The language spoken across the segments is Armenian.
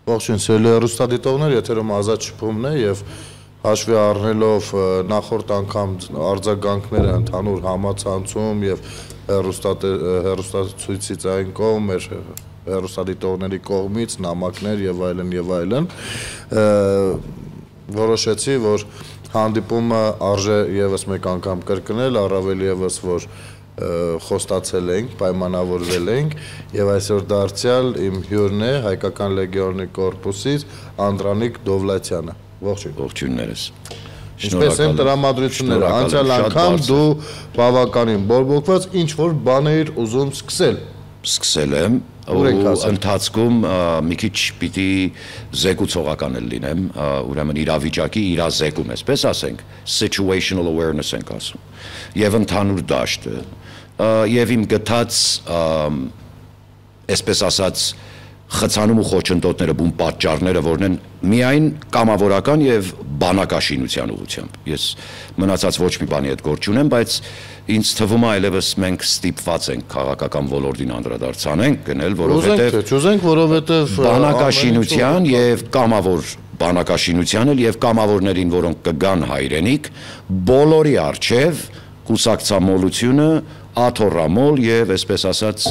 Ողջույն, սիրելի հեռուստադիտողներ, եթերում ազատ շփումն է եւ հաշվի առնելով նախորդ անգամ արձագանքները ընդհանուր համացանցում եւ հեռուստացույցից այն կողմ մեր հեռուստադիտողների կողմից նամակներ եւ այլն որոշեցի, որ հանդիպումը արժե եւս մեկ անգամ կրկնել, առավել եւս որ խոստացել ենք, պայմանավորվել ենք եւ այսօր դարձյալ իմ հյուրն է Հայկական լեգիոնի կորպուսից Անդրանիկ Դովլաթյանը։ Ողջույն։ Ողջույններս։ Ինչպես են տրամադրությունները, անցյալ անգամ դու բավականին բորբոքված ինչ որ բան էիր ուզում սկսել եմ, ընթացքում մի քիչ պիտի զեկուցողական լինեմ, ուրեմն իրավիճակի իրազեկում, այսպես ասենք, situational awareness ենք ասում, եւ ընդհանուր դաշտը, եւ իմ գտած, այսպես ասած, խցանում ու խոչընդոտները, բուն պատճառները, որն են միայն կամավորական եւ բանակաշինության ուղղությամբ։ Ես մնացած ոչ մի բանի հետ գործ չունեմ, բայց ինձ թվում է այլևս մենք ստիպված ենք քաղաքական ոլորտին անդրադարձանենք գնել, որովհետեւ բանակաշինության եւ կամավոր բանակաշինությանը եւ կամավորներին, որոնք կգան հայրենիք, բոլորի արչեւ կուսակցամոլությունը, աթոռամոլ եւ այսպես ասած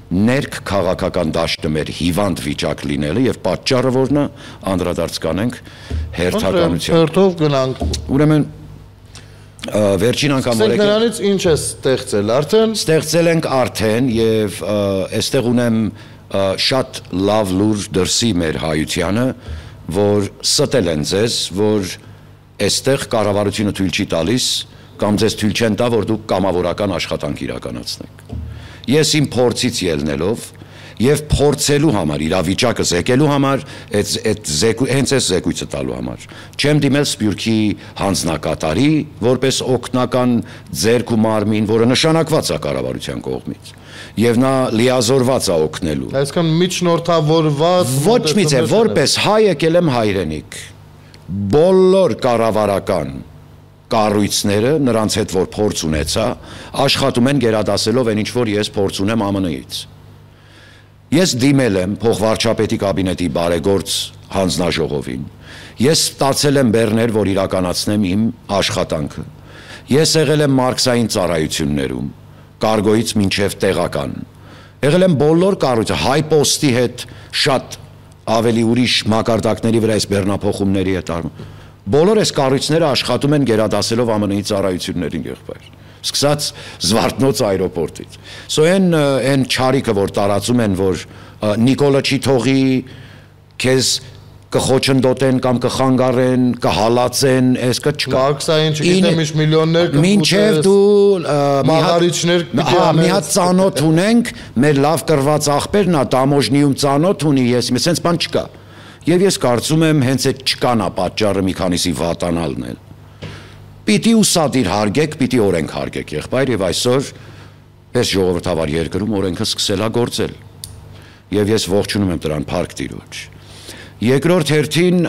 ներք քաղաքական դաշտը մեր հիվանդ վիճակ լինելը եւ պատճառը որն է անդրադարձ կանենք հերթականության։ Հերթով գնանք։ Ուրեմն վերջին անգամ օրենք նրանից ինչ է ստեղծել արդեն։ Ստեղծել ենք արդեն եւ այստեղ ունեմ շատ լավ լուր դրսի մեր հայությանը, որ ստել են ձեզ, որ այստեղ կառավարությունը թույլ չի տալիս կամ ձեզ թույլ չեն տա, որ դուք կամավորական աշխատանք իրականացնեք։ Ես իմ փորձից ելնելով եւ փորձելու համար, իրավիճակը զեկելու համար, հենց այս զեկույցը տալու համար, չեմ դիմել Սփյուռքի հանձնակատարի, որպես օգնական ձեռք ու մարմին, որը նշանակված է կառավարության կողմից, եւ նա լիազորված է օգնելու։ Այսինքն միջնորդավորված ոչ մի ձև, որպես հայ եկել եմ հայրենիք, բոլոր կառավարական կառույցները, նրանց հետ որ փորձ ունեցա, աշխատում են գերադասելով այն ինչ որ ես փորձ ունեմ ԱՄՆ-ից։ Ես դիմել եմ փոխվարչապետի կաբինետի բարեգործ հանձնաժողովին։ Ես ստացել եմ բեռներ, որ իրականացնեմ իմ աշխատանքը։ Ես եղել եմ մարքսային ծառայություններում, կարգոյից մինչև տեղական։ Եղել եմ բոլոր կառույցը, հայ պոստի հետ շատ ավելի ուրիշ մակարդակների վրա այս բեռնափոխումների հետ արվում։ Բոլոր այս կառույցները աշխատում են գերադասելով ԱՄՆ-ի ծառայություններին եղբայր, սկսած Զվարթնոց այրոպորտից։ Այն չարիքը, որ տարածում են, որ Նիկոլը չի թողի, քեզ կխոչընդոտեն կամ կխանգարեն, կհալածեն, այս չկա։ Կաքսային չգիտեմ ինչ միլիոններ մինչև դու մահարիչներ մի հատ ծանոթ ունենք, մեր լավ կրված աղբերն է Տամոժնիում ծանոթ ունի, ես այսպես բան չկա։ Եվ ես կարծում եմ հենց այդ չկանա պատճառը մի քանիսի վատանալն էլ։ Պիտի ուսադիր հարգեք, պիտի օրենք հարգեք եղբայր եւ այսօր այս ժողովրդավար երկրում օրենքը սկսել է գործել։ Եւ ես ողջունում եմ դրան փառք Տիրոջ։ Երկրորդ հերթին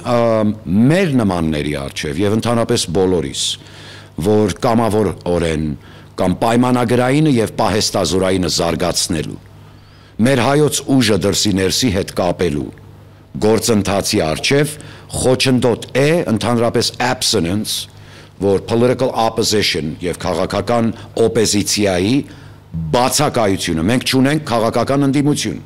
մեր նմանների արչեւ եւ ընդհանրապես բոլորիս, որ կամավորորեն կամ պայմանագրայինը եւ պահեստազորայինը զարգացնելու, մեր հայոց ուժը դրսի ներսի հետ կապելու գործընթացի արչև խոչընդոտ է ընդհանրապես abstinence, որ political opposition եւ քաղաքական օպոզիցիայի բացակայությունը, մենք չունենք քաղաքական ընդդիմություն։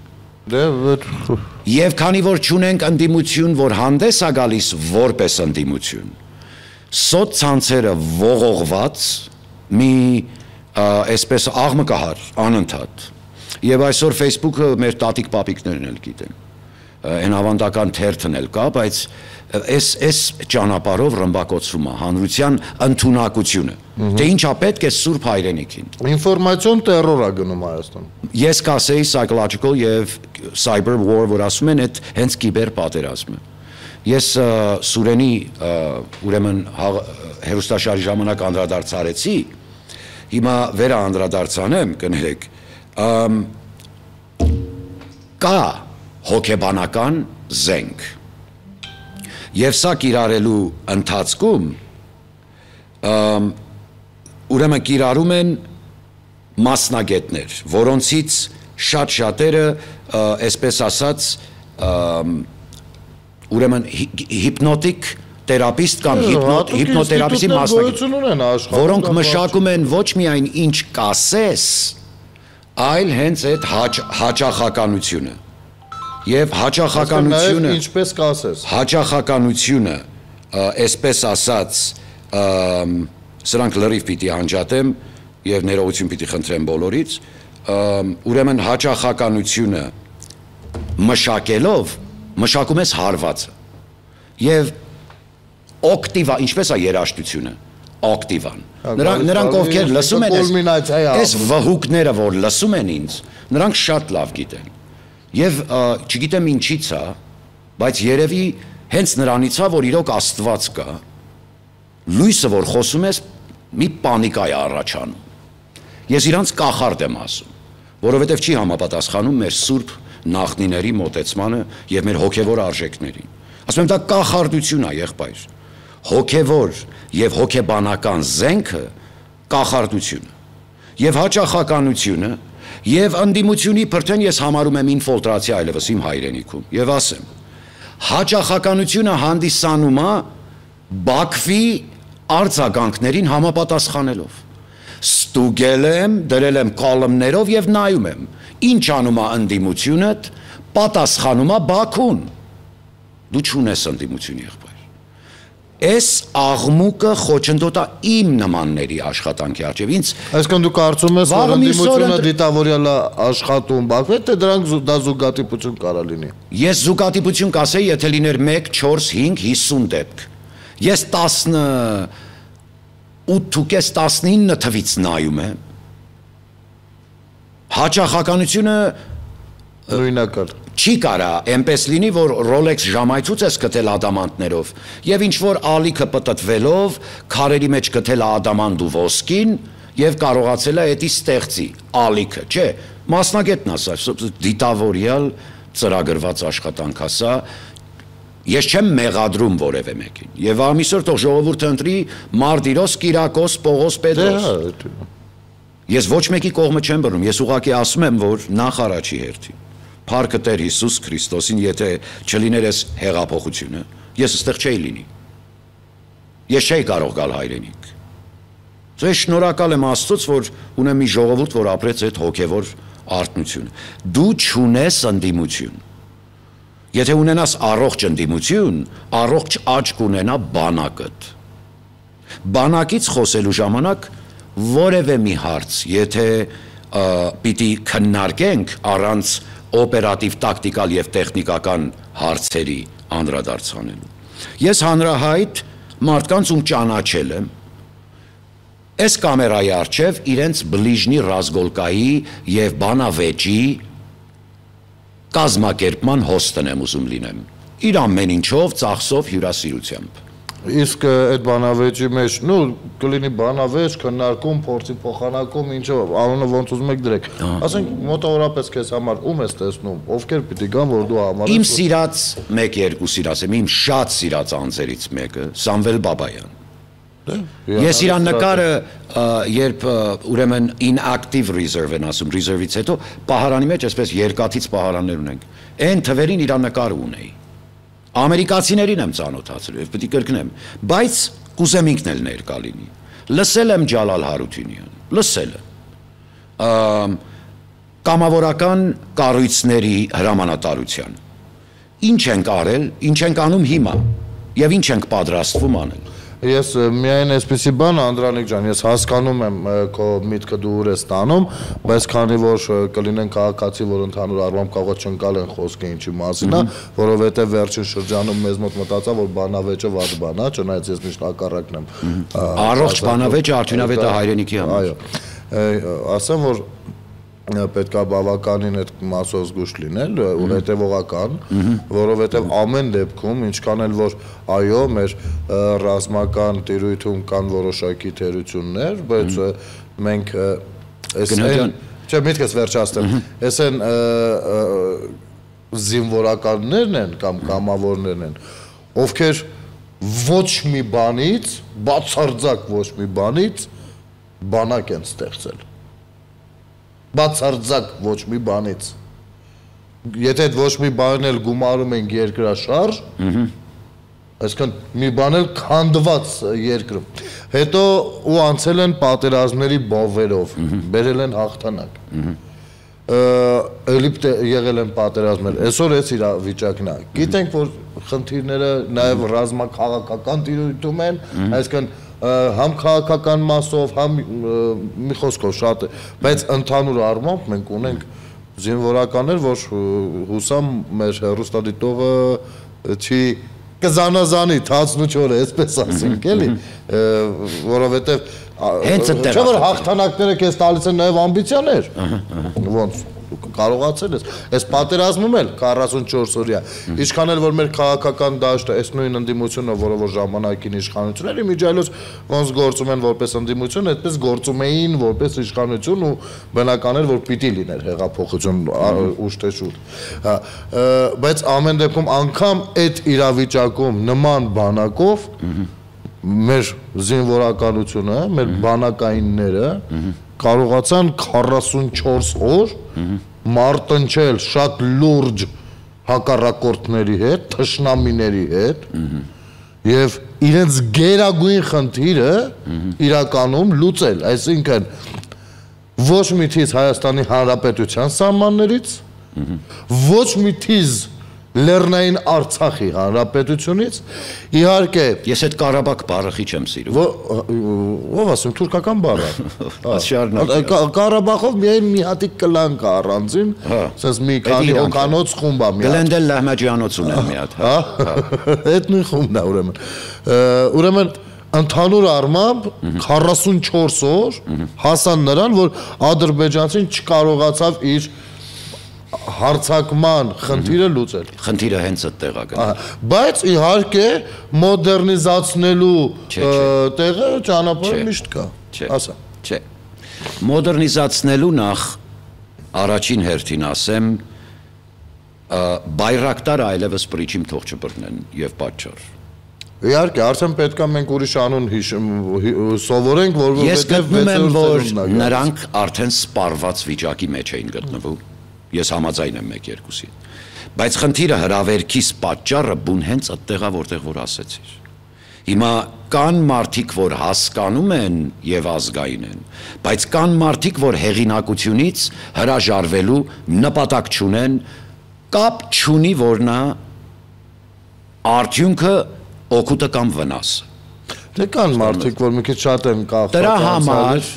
Եվ քանի որ չունենք ընդդիմություն, որ հանդես է գալիս որպես ընդդիմություն, սոցցանցերը ողողված մի այսպես աղմկահար անընդհատ։ Եվ այսօր Facebook-ը մեր տատիկ պապիկներն էլ գիտեն։ Այն ավանդական թերթն էլ կա, բայց այս ճանապարհով ռմբակոծվում է հանրության ընդունակությունը։ Դե ինչա պետք է սուրբ հայրենիքին։ Ինֆորմացիոն տերոր է գնում Հայաստան։ Ես կասեի psychological եւ cyber war, որ ասում են, այդ հենց կիբեր պատերազմը։ Ես Սուրենի ուրեմն հերոստաշարի ժամանակ անդրադարձարեցի, հիմա վերա անդրադարձանեմ, կներեք, կա հոգեբանական զենք։ Եվ սա կիրառելու ընթացքում ուրեմն կիրառում են մասնագետներ, որոնցից շատ շատերը, այսպես ասած, ուրեմն հիպնոտիկ թերապիստ կամ հիպնոթերապիստի մասնագետ, որոնք մշակում են ոչ միայն ինչ կասես, այլ հենց այդ հաճախականությունը։ Եվ հաճախականությունը, ինչպես կասես։ Հաճախականությունը, այսպես ասած, սրանք լրիվ պիտի անջատեմ եւ ներողություն պիտի խնդրեմ բոլորից, ուրեմն հաճախականությունը մշակելով մշակում ես հարվածը եւ օկտիվա, ինչպես է երաժշտությունը, օկտիվան։ Նրանք ովքեր լսում են այս վհուկները, որ լսում են ինձ, նրանք շատ լավ գիտեն։ Եվ չգիտեմ ինչից է, բայց երևի հենց նրանից է, որ իրոք Աստված կա, լույսը, որ խոսում ես, մի պանիկա է առաջանում։ Ես իրանց կախարդ եմ ասում, որովհետև չի համապատասխանում մեր սուրբ նախնիների մոտեցմանը եւ մեր հոգեվոր արժեքներին։ Ասում եմ, դա կախարդություն է, եղբայր։ Հոգեվոր եւ հոգեբանական զենքը կախարդությունը եւ հաճախականությունը եւ անդիմությունի բրդեն ես համարում եմ ինֆիլտրացիա այլևս իմ հայրենիքում եւ ասեմ, հաճախականությունը հանդիսանում է Բաքվի արձագանքներին համապատասխանելով։ Ստուգել եմ, դրել եմ կոլմներով եւ նայում եմ, ինչ անում է անդիմությունդ, պատասխանում է Բաքուն։ Դու չունես անդիմություն, եղբայր։ Այս աղմուկը խոչընդոտ է իմ նմանների աշխատանքի առջև։ Ինձ այսինքն դու կարծում ես, որ անդիմությունը դիտավորյալ է աշխատում Բաքվի, թե դրանք դա զուգատիպություն կարա լինի։ Ես զուգատիպություն կասեի, եթե լիներ 1, 4, 5, 50 դեպք։ Ես 18-19 թվից նայում եմ։ Հաճախականությունը նույնակալ չի կարա այնպես լինի, որ Rolex ժամայցուց ես գտել ադամանտներով եւ ինչ որ ալիքը պտտվելով քարերի մեջ գտել ադամանտ ու ոսկին եւ կարողացել է դա ստեղծի ալիքը, չէ, մասնագետն ասա, դիտավորյալ ծրագրված աշխատանք ասա, ես չեմ մեղադրում որևէ մեկին եւ ամիսօր թող ժողովուրդը ընտրի Մարտիրոս, Կիրակոս, Պողոս, Պետրոս։ Ես ոչ մեկի կողմը չեմ բռնում, ես ուղղակի ասում եմ, որ նախ առաջի հերթին Փառքը Տեր Հիսուս Քրիստոսին, եթե չլիներ այս հեղափոխությունը, ես այստեղ չէի լինի։ Ես չէի կարող գալ հայրենիք։ Ես շնորհակալ եմ Աստծուց, որ ունեմ մի ժողովուրդ, որ ապրեց այդ հոգևոր արթնությունը։ Դու չունես ընդդիմություն։ Եթե ունենաս առողջ ընդդիմություն, առողջ աչք ունենա բանակդ։ Բանակից խոսելու ժամանակ որևէ մի հարց, եթե պիտի քննարկենք առանց օպերատիվ, տակտիկալ եւ տեխնիկական հարցերի անդրադարձանելու։ Ես հանրահայտ մարդկանց ում ճանաչել եմ, այս կամերայի առջև իրենց բլիժնի ռազգոլկայի եւ բանավեճի կազմակերպման հոստն եմ ուզում լինեմ։ Իր ամեն ինչով, ծախսով, հյուրասիրությամբ։ Իսկ այդ բանավեճի մեջ, նու կլինի բանավեճ, քննարկում, փորձի փոխանակում, ինչով, անունը ոնց ուզում եք դրեք։ Ասենք մոտավորապես քեզ համար ում ես տեսնում, ովքեր պիտի գան, որ դու համարես։ Իմ սիրած 1-2 սիրած եմ, իմ շատ սիրած անձերից մեկը Սամվել Բաբայան։ Ես իր նկարը, երբ ուրեմն inactive reserve են ասում, reserve-ից հետո պահարանի մեջ այսպես երկաթից պահարաններ ունենք։ Այն թվերին իր նկարը ունեի։ Ամերիկացիներին եմ ծանոթացել եւ պետք է կրկնեմ, բայց կուզեմ ինքն էլ ներկա լինի։ Լսել եմ Ջալալ Հարությունյան, լսել եմ կամավորական կառույցների հրամանատարության։ Ինչ ենք արել, ինչ ենք անում հիմա եւ ինչ ենք պատրաստվում անել։ Ես միայն այսպեսի բան, Անդրանիկ ջան, ես հասկանում եմ քո միտքը դու ուր ես տանում, բայց քանի որ կլինեն քաղաքացի, որ ընդհանուր առմամբ կարող է չընկալ են խոսքը ինչի մասին է, որովհետև վերջին շրջանում մեզ մոտ մտածա, որ բանավեճը վատ բան է, չնայած ես միշտ հակառակն եմ։ Առողջ բանավեճը արդյունավետ է հայրենիքի համար։ Այո, ասեմ, որ պետք է բավականին այդ մասով զգուշ լինել ու հետևողական, որովհետև ամեն դեպքում, ինչքան էլ որ այո, մեր ռազմական տիրույթում կան որոշակի թերություններ, բայց մենք չէ, միտքս վերջացնեմ, այս են զինվորականներն են կամ կամավորներն են, ովքեր ոչ մի բանից, բացարձակ ոչ մի բանից բանակ են ստեղծել։ Բացարձակ ոչ մի բանից։ եթե այդ ոչ մի բան էլ գումարում ենք երկրաշարժ, այսինքն մի բան էլ քանդված երկրում։ Հետո ու անցել են պատերազմների բովերով, բերել են հաղթանակ։ Էլի եղել են պատերազմներ, այսօր էս իրավիճակն է։ Գիտենք, որ խնդիրները նաև ռազմաքաղաքական տիրույթում են, այսինքն համ քաղաքական մասով, համ մի խոսքով շատ է, բայց ընդհանուր առմամբ մենք ունենք զինվորականներ, որ հուսամ մեր հեռուստադիտողը չի կզանազանի թացն ու չորը, այսպես ասենք, էլի, որովհետև չէ՞ որ հաղթանակները քեզ տալիս են նաև ամբիցիաներ, ոնց կարողացել ես, այս պատերազմում էլ 44 օրյա, ինչքան էլ որ մեր քաղաքական դաշտը, այս նույն ընդդիմությունը, որը որ ժամանակին իշխանություն էր, իմիջիայլոց ոնց գործում են որպես ընդդիմություն, այդպես գործում էին որպես իշխանություն ու բնական էր, որ պիտի լիներ հեղափոխություն ուշ թե շուտ, բայց ամեն դեպքում անգամ այդ իրավիճակում նման բանակով մեր զինվորականությունը, մեր բանակայինները կարողացան 44 օր մարտնչել շատ լուրջ հակառակորդների հետ, թշնամիների հետ եւ իրենց գերագույն խնդիրը իրականում լուծել, այսինքն ոչ միթից Հայաստանի Հանրապետության սահմաններից, ոչ միթից Լեռնային Արցախի Հանրապետությունից, իհարկե ես այդ Ղարաբաղ բառը քիչ եմ սիրում։ Ով ասում թուրքական բառ է։ Ղարաբաղով միայն մի հատիկ կլան կա առանձին, ասես մի քանի օկանոց խումբ է մի հատ։ Գլենդել Լահմաջյանոց ունեն մի հատ, հա։ Այդ նույն խումբն է ուրեմն։ Ուրեմն ընդհանուր առմամբ 44 օր հասան նրան, որ ադրբեջանցին չկարողացավ իր հարցակման խնդիրը լուծել։ Խնդիրը հենց այդտեղ է գնում։ Բայց իհարկե մոդեռնիզացնելու տեղը ճանապարհը միշտ կա։ Ասա։ Չէ։ Մոդեռնիզացնելու նախ առաջին հերթին ասեմ բայրակտարը այլևս պրիչիմ թող չբռնեն եւ պատճառ։ Իհարկե, արդեն պետք է մենք ուրիշ անուն սովորենք, որովհետեւ ես գտնում եմ, որ նրանք արդեն սպառված վիճակի մեջ էին գտնվում։ Ես համաձայն եմ 1-2-ի։ Բայց խնդիրը հրավերքիս պատճառը բուն հենց այդտեղա որտեղ որ ասեցիր։ Հիմա կան մարդիկ, որ հասկանում են եւ ազգային են, բայց կան մարդիկ, որ հեղինակությունից հրաժարվելու նպատակ չունեն, կապ չունի, որ նա արդյունքը օգուտը կամ վնասը։ Դե կան մարդիկ, որ մի քիչ շատ են կախված։ Դրա համար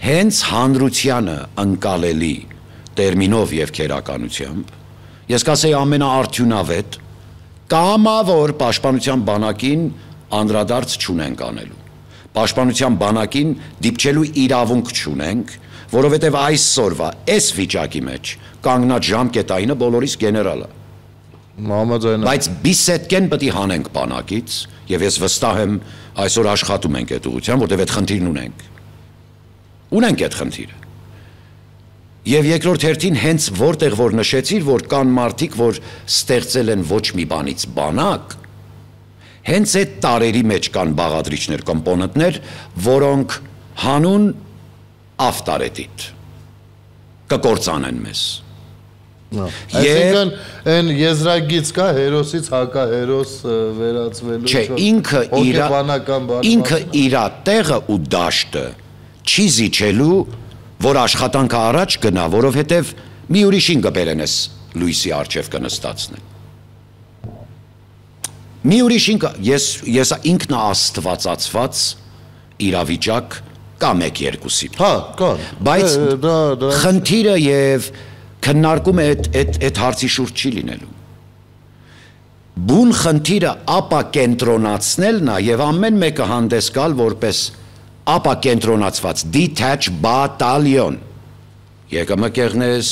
հենց հանրությանը ընկալելի տերմինով եւ քերականությամբ ես կասեի ամենաարդյունավետ կամավոր պաշտպանության բանակին անդրադարձ չունենք անելու պաշտպանության բանակին դիպչելու իրավունք չունենք որովհետեւ այսօրվա այս վիճակի մեջ կանգնած ժամկետայինը բոլորիս գեներալը բայց բիսետկեն պետք է հանենք բանակից եւ ես վստահ եմ այսօր աշխատում ենք այդ ուղղությամբ որովհետեւ այդ խնդիրն ունենք այդ խնդիրը Եվ երկրորդ հերթին հենց որտեղ որ նշեցիր, որ կան մարդիկ, որ ստեղծել են ոչ մի բանից բանակ, հենց այդ տարերի մեջ կան բաղադրիչներ, կոմպոնենտներ, որոնք հանուն ավտարետիտ կկործանեն մեզ։ Այսինքն այն եզրագից կա հերոսից հակահերոս վերածվելու ինքը իրա տեղը ու դաշտը չի զիջելու որ աշխատանքը առաջ գնա, որովհետև մի ուրիշին կբերեն ես լույսի առջև կնստացնեն։ Մի ուրիշին ես ինքնաաստվածացված իրավիճակ կա 1-2-ի։ Հա, կա։ Բայց խնդիրը եւ քննարկումը այդ հարցի շուրջ չի լինելու։ Բուն խնդիրը ապա կենտրոնացնելն է եւ ամեն մեկը հանդես գալ որպես ապա կենտրոնացված detach battalion եկամը կեղնես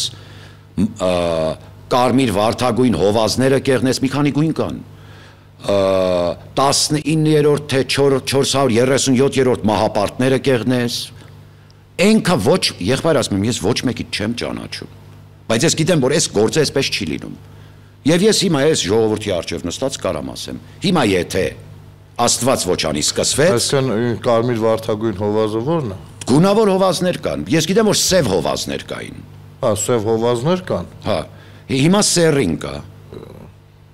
կարմիր վարդագույն հովազները կեղնես մի քանի գույն կան 19-րդ թե 437-րդ մահապարտները կեղնես այնքա ոչ եղբայր ասում եմ ես ոչ մեկից չեմ ճանաչում բայց ես գիտեմ որ այս գործը այսպես չի լինում եւ ես հիմա այս ժողովրդի առջև նստած կարամ ասեմ հիմա եթե Աստված ոչ անի սկսվեց։ Այսինքն կարմիր վարդագույն հովազը ո՞րն է։ Գունավոր հովազներ կան։ Ես գիտեմ որ սև հովազներ կային։ Հա, սև հովազներ կան։ Հա։ Հիմա սերին կա։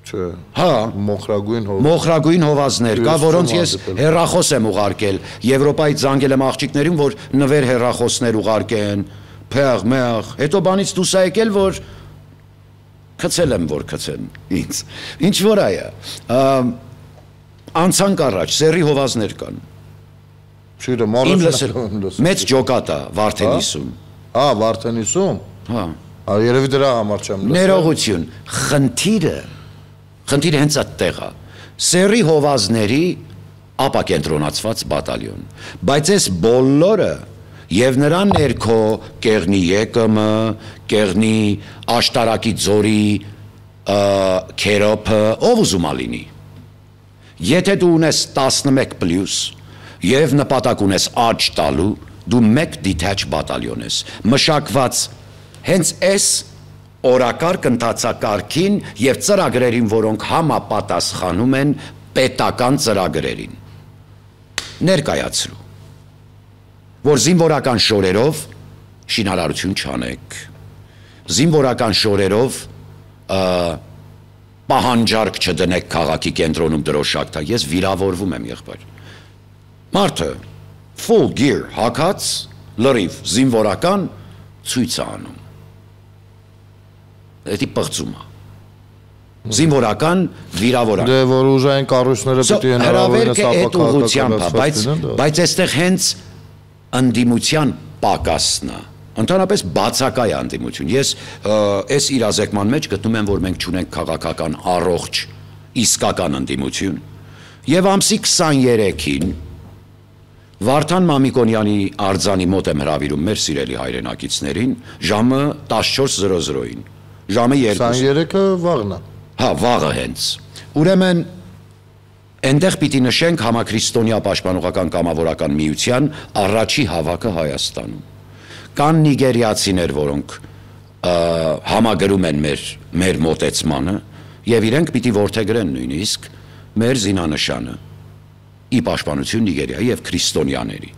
Չէ։ Հա, մոխրագույն հովազներ կա, որոնց ես հեռախոս եմ ուղարկել Եվրոպայից զանգել եմ աղջիկներին, որ նվեր հեռախոսներ ուղարկեն, փեղ, մեղ, հետո բանից դուրս է եկել, որ քցել եմ, որ քցեն ինձ։ Ինչ որ այա։ Անցանք առաջ, սերի հովազներ կան։ Չիրը մեծ ջոկատա Վարդենիսում։ Հա, Վարդենիսում։ Հա։ Երևի դրա համար չեմ լսել։ Ներողություն, խնդիրը հենց այդտեղ է։ Սերի հովազների ապակենտրոնացված բատալյոն։ Բայց այս բոլորը եւ նրան ներքո Կեղնի ԵԿՄ, Կեղնի Աշտարակի ձորի Քերոփը, ով ուզում ա լինի։ Եթե դու ունես 11+ եւ նպատակ ունես աճ տալու, դու մեկ detach բատալյոն ես, մշակված հենց այս օրակարգ ընթացակարգին եւ ծրագրերին, որոնք համապատասխանում են պետական ծրագրերին։ Ներկայացրու, որ զինվորական շորերով շինարարություն չանեք, զինվորական շորերով պահանջարկ չդնեք քաղաքի կենտրոնում դրոշակ տա, ես վիրավորվում եմ եղբայր։ Մարդը full gear հագած, լրիվ զինվորական ցույց է անում։ Դա պղծում է։ Զինվորական, վիրավորական։ Դե որ ուժային կառույցները պիտի հնարավորինս ապակարգական, բայց այստեղ հենց ընդդիմության պակասն է։ Ընդհանրապես բացակայ անդիմություն։ Ես այս իրազեկման մեջ գտնում եմ, որ մենք չունենք քաղաքական առողջ իսկական ընդդիմություն։ Եւ ամսի 23-ին Վարդան Մամիկոնյանի արձանի մոտ եմ հրավիրում մեր սիրելի հայրենակիցներին ժամը 14:00-ին։ Ժամը 2։ 23-ը վաղն է։ Հա, վաղը հենց։ Ուրեմն այնտեղ պիտի նշենք համաքրիստոնյա պաշտպանողական կամավորական միության առաջի հավաքը Հայաստանում։ Կան նիգերիացիներ, որոնք համագրում են մեր մոտեցմանը եւ իրենք պիտի որդեգրեն նույնիսկ մեր զինանշանը ի պաշտպանություն Նիգերիայի եւ քրիստոնյաների։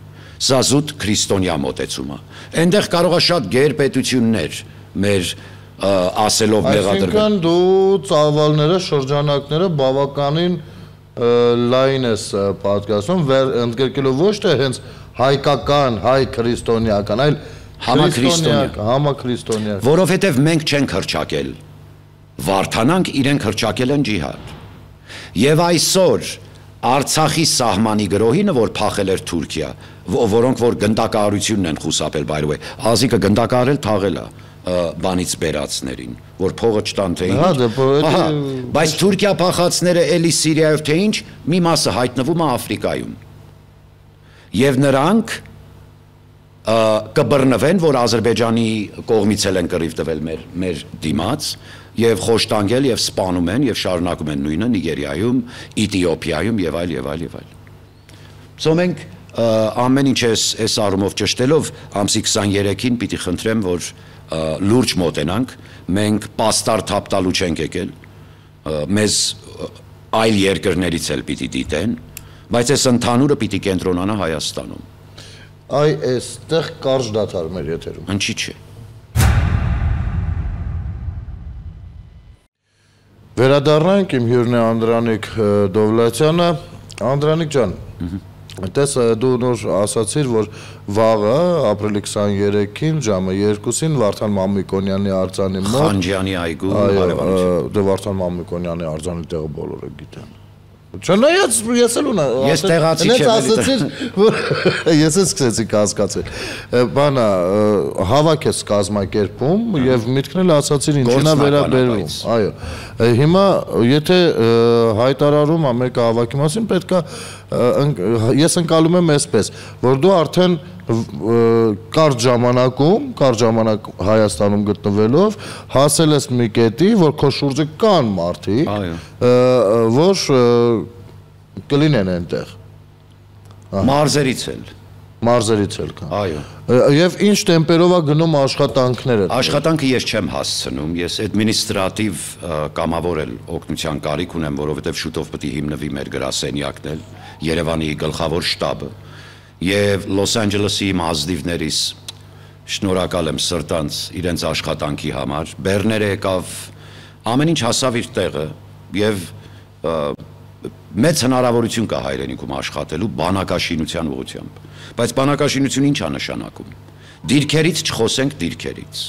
Սա զուտ քրիստոնյա մոտեցում է։ Այնտեղ կարող է շատ գերպետություններ մեր ասելով մեղադրվել։ Այսինքն դու ծավալները, շրջանակները բավականին լայն ես պատկասում, ընդգրկելով ոչ թե հենց հայկական, հայ քրիստոնեական, այլ համաքրիստոնեական։ Որովհետև մենք չենք հռչակել Վարդանանք, իրենք հռչակել են ջիհադ։ Եվ այսօր Արցախի սահմանի գրոհինը, որ փախել էր Թուրքիա, որոնք որ գնդակահարությունն են խուսափել, by the way, ազիկը գնդակահարել թաղել է բանից բերածներին, որ փողը չտան թե ինչ։ Բայց Թուրքիա փախածները էլի Սիրիայով թե ինչ, մի մասը հայտնվում է Աֆրիկայում։ Եվ նրանք կբռնվեն, որ Ադրբեջանի կողմից էլ են կռիվ տվել մեր դիմաց, եւ խոշտանգել եւ սպանում են եւ շարունակում են նույնը Նիգերիայում, Էթիոպիայում եւ այլ եւ այլ եւ այլ։ Սա մենք ամեն ինչ այս առումով ճշտելով ամսի 23-ին պիտի խնդրեմ, որ լուրջ մոտենանք, մենք պաստար թափ տալու չենք եկել, մեզ այլ երկրներից էլ պիտի դիտեն, բայց այս ընդհանուրը պիտի կենտրոնանա Հայաստանում։ Այ այստեղ կարճ դադար մեր եթերում։ Ինչի՞ չէ։ Վերադառնանք, իմ հյուրն է Անդրանիկ Դովլաթյանը։ Անդրանիկ ջան, տես դու նոր ասացիր, որ վաղը ապրիլի 23-ին ժամը 2-ին Վարդան Մամիկոնյանի արձանի մոտ Խանջյանի այգու հարևանություն։ Դե Վարդան Մամիկոնյանի արձանի տեղը բոլորը գիտեն։ Չնայած ես էլ ունա։ Ես տեղացի չեմ։ Ասացիր, որ ես էլ սկսեցի կասկածել։ Բանա հավաք ես կազմակերպում եւ միտքն էլ ասացիր ինչին է վերաբերվում։ Այո։ Հիմա եթե հայտարարում ա մեկը հավաքի մասին, պետքա ես ընկալում եմ այսպես, որ դու արդեն կարճ ժամանակ Հայաստանում գտնվելով հասել ես մի կետի, որ քո շուրջը կան մարդիկ, որ կլինեն այնտեղ։ Մարզերից էլ կան։ Այո։ Եվ ինչ տեմպերով է գնում աշխատանքները։ Աշխատանքը ես չեմ հասցնում, ես administrative կամավոր էլ օգնության կարիք ունեմ, որովհետև շուտով պետք է հիմնվի մեր գրասենյակն էլ, Երևանի գլխավոր շտաբը։ Եվ Լոս Անջելեսի մազդիվներից Շնորհակալ եմ սրտանց իրենց աշխատանքի համար, բեռները եկավ, ամեն ինչ հասավ իր տեղը եւ մեծ հնարավորություն կա հայրենիքում աշխատելու բանակաշինության ուղղությամբ, բայց բանակաշինությունը ինչ է նշանակում։ Դիրքերից չխոսենք դիրքերից։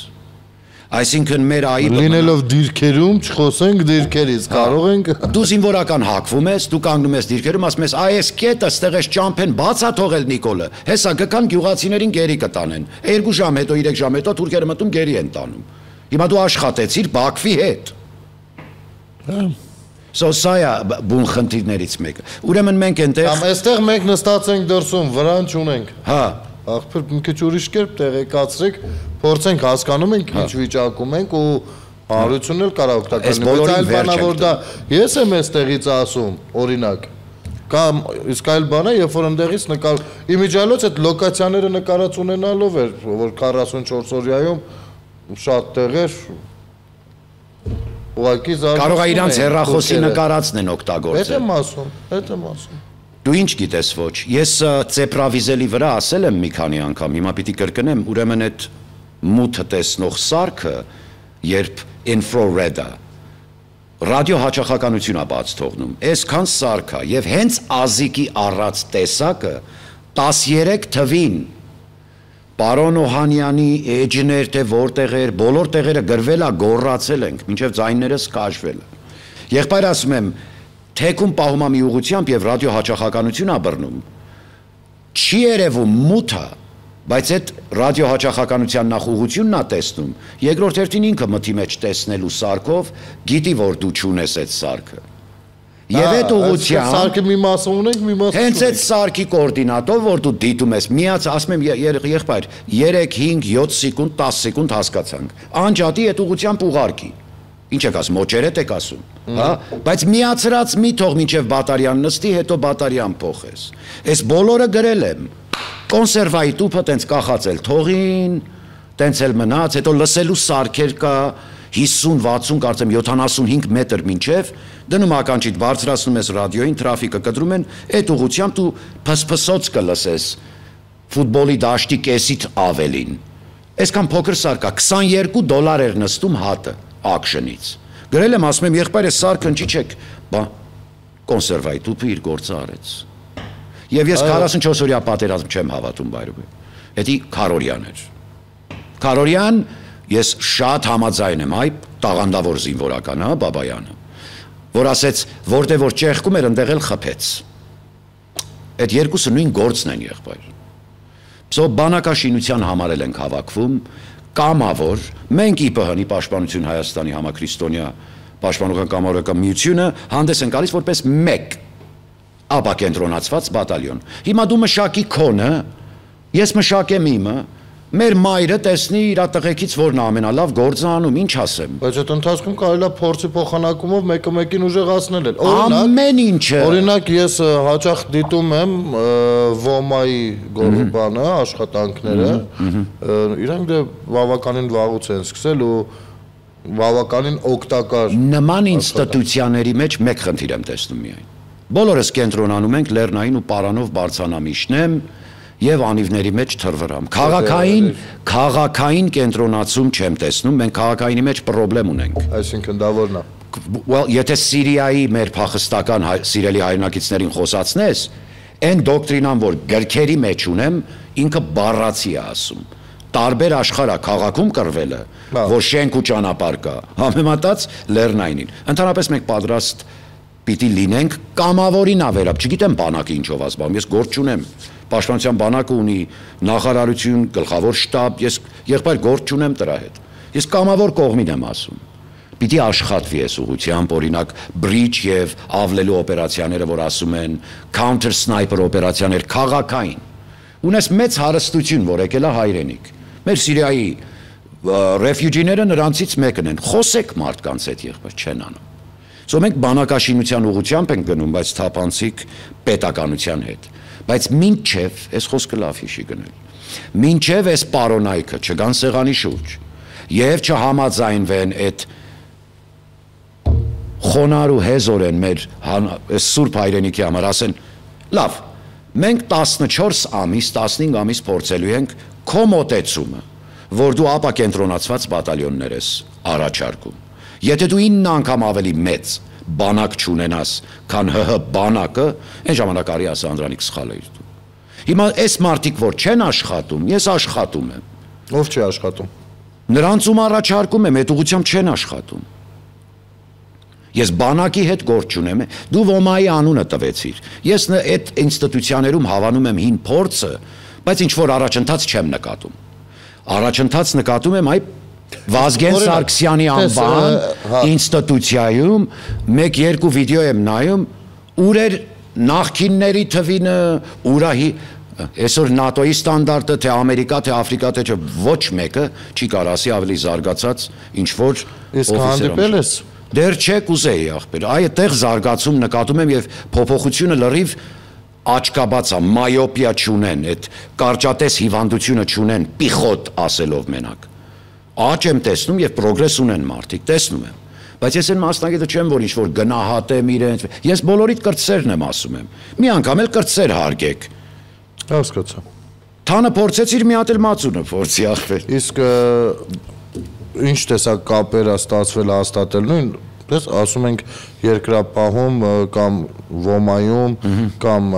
Այսինքն մեր այ լինելով դիրքերում չխոսենք դիրքերից, կարող ենք դու զինվորական հակվում ես, դու կանգնում ես դիրքերում, ասում ես այս կետը ստեղ էս ճամփեն բացա թողել Նիկոլը, հեսա գքան գյուղացիներին գերի կտանեն, 2 ժամ հետո 3 ժամ հետո թուրքերը մտում գերի են տանում, հիմա դու աշխատեցիր Բաքվի հետ, սա է բուն խնդիրներից մեկը, ուրեմն մենք այնտեղ այստեղ մենք նստած ենք դրսում, վրան չունենք, հա աղբյուր մի քիչ ուրիշ կերպ տեղեկացրեք, փորձենք հասկանում ենք ինչ վիճակում ենք ու հանրությունն էլ կարող օգտակար լինի, բայց այլ բանա որ դա ես եմ այստեղից ասում, օրինակ, կամ իսկ այլ բան է, երբ որ ընդեղից նկար իմիջիալոց այդ լոկացիաները նկարած ունենալով էր, որ 44 օրյայում շատ տեղեր ուղղակի զարգացում կարող է իրանց հեռախոսի նկարածն են օգտագործել։ Հետ եմ ասում։ Դու ինչ գիտես ոչ, ես ծեպրավիզելի վրա ասել եմ մի քանի անգամ, հիմա պիտի կրկնեմ, ուրեմն այդ մութը տեսնող սարքը, երբ infrared-ը, ռադիո հաճախականություն է բաց թողնում, այսքան սարք է, եւ հենց ազիկի առած տեսակը 13 թվին Պարոն Օհանյանի էջներ թե որտեղ էր, բոլոր տեղերը գրվել է, գոռացել ենք, մինչև ձայներս կաշվել է։ Եղբայր ասում եմ, թեկում պահում է մի ուղղությամբ եւ ռադիո հաճախականություն է բռնում, չի երևում մութը, բայց այդ ռադիո հաճախականության նախ ուղղությունն է տեսնում, երկրորդ հերթին ինքը մթի մեջ տեսնելու սարքով գիտի, որ դու չունես այդ սարքը։ Եվ այդ ուղղությամբ սարքի մի մասը ունենք, մի մասը հենց այդ սարքի կոորդինատով, որ դու դիտում ես, միած ասում եմ եղբայր, 3, 5, 7 սեկունդ, 10 սեկունդ հասկացանք, անջատի այդ ուղղությամբ ուղարկի։ Ինչ եք ասում, օճերետ եք ասում, հա, բայց միացրած մի թող մինչև բատարյան նստի, հետո բատարյան փոխես։ Այս բոլորը գրել եմ։ Կոնսերվայի տուփը տենց կախածել թողին, տենց էլ մնաց, հետո լսելու սարքեր կա 50-60, կարծեմ 75 մետր մինչև, դնում ականջիդ բարձրացնում ես ռադիոյին, տրաֆիկը կտրում են, այդ ուղղությամբ դու փսփսոց կլսես ֆուտբոլի դաշտի կեսից ավելին։ Այսքան փոքր սարք է, $22 էր նստում հատը ակշնից։ Գրել եմ, ասում եմ, եղբայր է սարքը ընչիչեք, բա կոնսերվայի տուփը իր գործը արեց։ Եվ ես 44 օրյա պատերազմ չեմ հավատում բայրուբե։ Էդի Քարորյան էր։ Քարորյան ես շատ համաձայն եմ, այ տաղանդավոր զինվորական, հա, Բաբայանը, որ ասեց, որտեղ որ ճեղքում էր, ընդեղ էլ խփեց։ Այդ երկուսը նույն գործն են, եղբայր։ Սո բանակաշինության համարել ենք հավաքվում, կամավոր, մենք ԻՊՀ-ի Պաշտպանություն Հայաստանի համաքրիստոնյա Պաշտպանական կամավորական միությունը հանդես են գալիս որպես մեկ ապակենտրոնացված բատալյոն։ Հիմա դու մշակի քոնը, ես մշակեմ իմը, մեր մայրը տեսնի իր տղեկից որն է ամենալավ գործը անում, ինչ ասեմ։ Բայց այդ ընթացքում կարելի է փորձի փոխանակումով մեկը մեկին ուժեղացնել էլ։ Ամեն ինչը։ Օրինակ ես հաճախ դիտում եմ ՈՄԱ-ի գորբանը, աշխատանքները, իրանք դե բավականին վաղուց են սկսել ու բավականին օգտակար։ Նման ինստիտուցիաների մեջ մեկ խնդիր եմ տեսնում միայն։ Բոլորս կենտրոնանում ենք Լեռնային ու Պարանով բարձանամիշնեմ եւ անիվների մեջ թրվրամ։ Քաղաքային կենտրոնացում չեմ տեսնում, մենք քաղաքայինի մեջ խնդրեմ ունենք։ Այսինքն դա որն է։ Well, եթե Սիրիայի մեր փախստական սիրելի հայրենակիցներին խոսացնես, այն դոկտրինան, որ գրքերի մեջ ունեմ, ինքը բառացի է ասում։ Տարբեր աշխարհա քաղաքում կռվելը, որ շենք ու ճանապարհ կա, համեմատած Լեռնայինին։ Ընդհանրապես մենք պատրաստ պիտի լինենք կամավորին ավերապ, չգիտեմ բանակը ինչով ազբաղում, ես գործ չունեմ, պաշտպանության բանակը ունի նախարարություն, գլխավոր շտաբ, ես եղբայր գործ չունեմ դրա հետ, ես կամավոր կողմին եմ ասում, պիտի աշխատվի այս ուղղությամբ, օրինակ բրիջ եւ ավլելու օպերացիաները, որ ասում են, counter sniper օպերացիաներ քաղաքային, ունես մեծ հարստություն, որ եկել է հայրենիք, մեր Սիրիայի ռեֆյուջիները նրանցից մեկն են, խոսեք մարդկանց հետ եղբայր չեն անում։ Սո մենք բանակաշինության ուղղությամբ ենք գնում, բայց թափանցիկ պետականության հետ։ Բայց մինչև, այս խոսքը լավ հիշի գնել, մինչև այս պարոնայքը չգան սեղանի շուրջ եւ չհամաձայնվեն այդ խոնար ու հեզորեն մեր սուրբ հայրենիքի համար, ասեն, լավ, մենք 14 ամիս, 15 ամիս փորձելու ենք քո մոտեցումը, որ դու ապակենտրոնացված բատալյոններ ես առաջարկում։ Եթե դու 9 անգամ ավելի մեծ բանակ չունենաս, քան ՀՀ բանակը, այն ժամանակ արի ասա Անդրանիկ սխալ էիր դու։ Հիմա այս մարդիկ, որ չեն աշխատում, ես աշխատում եմ։ Ով չի աշխատում։ Նրանց ում առաջարկում եմ, այդ ուղղությամբ չեն աշխատում։ Ես բանակի հետ գործ չունեմ, դու ոմայի անունը տվեցիր։ Ես այդ ինստիտուցիաներում հավանում եմ հին փորձը, բայց ինչ որ առաջընթաց չեմ նկատում։ Առաջընթաց նկատում եմ այ Վազգեն Սարգսյանի անվան ինստիտուցիայում 1-2 վիդեո եմ նայում, ուր էր նախկինների թվինը, ուրահի այսօր ՆԱՏՕ-ի ստանդարտը, թե Ամերիկա, թե Աֆրիկա, թե ոչ մեկը չի կարող ասի ավելի զարգացած ինչ որ Իսկ հանդիպել ես։ Դեռ չէ կուզեի ախպեր, այդտեղ զարգացում նկատում եմ եւ փոփոխությունը լրիվ աչկաբաց է, մայոպիա չունեն, այդ կարճատես հիվանդությունը չունեն, պիխոտ ասելով մենակ։ Աճ եմ տեսնում եւ պրոգրես ունեն մարդիկ, տեսնում եմ։ Բայց ես այն մասնագետը չեմ, որ ինչ-որ գնահատեմ իրենց։ Ես բոլորիդ կրտսերն եմ ասում եմ։ Մի անգամ էլ կրտսեր հարգեք։ Հասկացա։ Թանը փորձեցիր մի հատ էլ մածունը փորձի ախպեր։ Իսկ ինչ տեսակ կապեր է ստացվել հաստատել նույն, դες ասում ենք երկրապահում կամ ոմայում կամ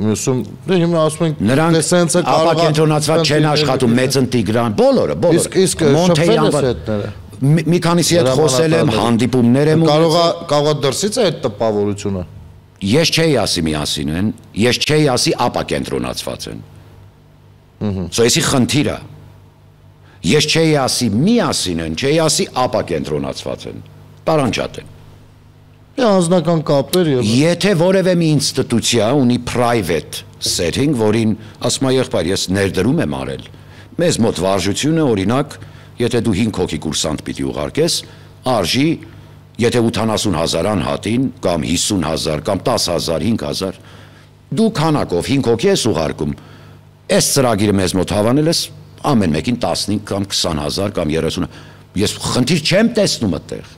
մյուսում, դե հիմա ասում ենք նրանք ապակենտրոնացված չեն աշխատում, Մեծն Տիգրան, բոլորը։ Իսկ շփվել ես հետները։ Մի քանիսի հետ խոսել եմ, հանդիպումներ եմ կարող է դրսից է այդ տպավորությունը։ Ես չէի ասի միասին են, ես չէի ասի ապակենտրոնացված են։ Սոյսի խնդիրը։ Ես չէի ասի միասին են, չէի ասի ապակենտրոնացված են։ Տարանջատ են։ Անձնական կապեր եւ Եթե որևէ մի ինստիտուցիա ունի private setting, որին ասում եմ եղբայր, ես ներդրում եմ արել։ Մեզ մոտ վարժությունը օրինակ, եթե դու 5 հոգի կուրսանտ պիտի ուղարկես, արժի, եթե 80,000 անհատին կամ 50,000 կամ 10,000, 5,000, դու քանակով 5 հոգի ես ուղարկում։ Այս ծրագիրը մեզ մոտ հավանել ես ամեն մեկին 15 կամ 20,000 կամ 30, ես խնդիր չեմ տեսնում այդտեղ։